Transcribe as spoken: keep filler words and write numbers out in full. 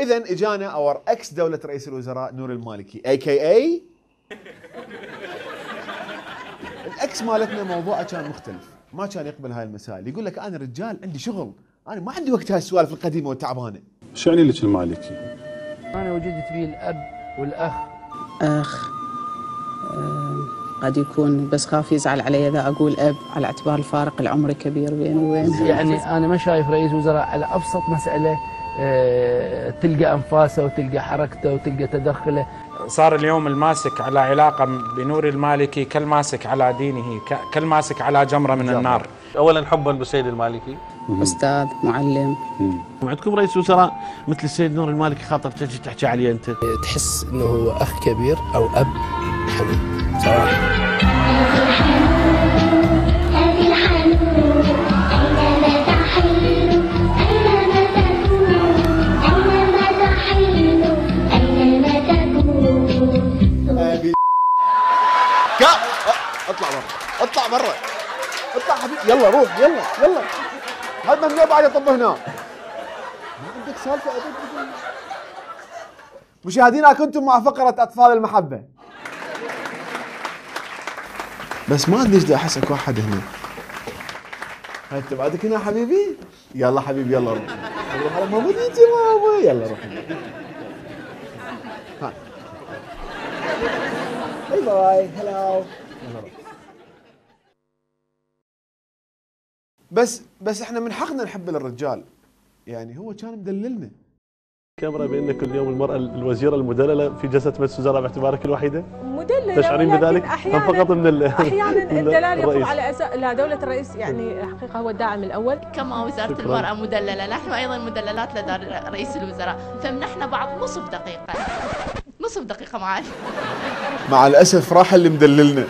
اذا اجانا اور اكس دوله رئيس الوزراء نور المالكي اي كي اي الاكس مالتنا موضوعه كان مختلف، ما كان يقبل هاي المسائل، يقول لك انا رجال عندي شغل، انا ما عندي وقت هاي السوالف القديمه والتعبانه. شو يعني لك المالكي؟ انا وجدت بيه الاب والاخ. اخ أه قد يكون بس خاف يزعل علي اذا اقول اب على اعتبار الفارق العمري كبير بيني وبينه. يعني انا ما شايف رئيس وزراء على ابسط مساله أه تلقى انفاسه وتلقى حركته وتلقى تدخله. صار اليوم الماسك على علاقه بنور المالكي كالماسك على دينه، كالماسك على جمره من النار. اولا حبا بالسيد المالكي، استاذ معلم. وعندكم رئيس وزراء مثل السيد نور المالكي خاطر تجي تحكي عليه انت، تحس انه هو اخ كبير او اب حبيب صراحه. اطلع برا اطلع برا اطلع حبيبي، يلا روح يلا يلا، هذا ممنوع بعد يطب هنا، ما عندك سالفه ابد. مشاهدينا كنتم مع فقره اطفال المحبه، بس ما ادري ايش احس اكو واحد هنا. هاي انت بعدك هنا حبيبي؟ يلا حبيبي يلا روح روح على ماما تيجي ماما، يلا روح ها باي باي هلاو يلا روح. بس بس احنا من حقنا نحب للرجال، يعني هو كان مدللنا. كاميرا بان كل يوم المراه الوزيره المدلله في جلسه مجلس الوزراء باعتبارك الوحيده؟ مدلله، تشعرين بذلك؟ احيانا فقط من احيانا الدلال يقوم على اساس لا دوله الرئيس، يعني الحقيقه هو الداعم الاول. كما وزاره شكراً. المراه مدلله، نحن ايضا مدللات لدى رئيس الوزراء، فمنحنا بعض نصف دقيقه نصف دقيقه معالي. مع الاسف راح اللي مدللنا.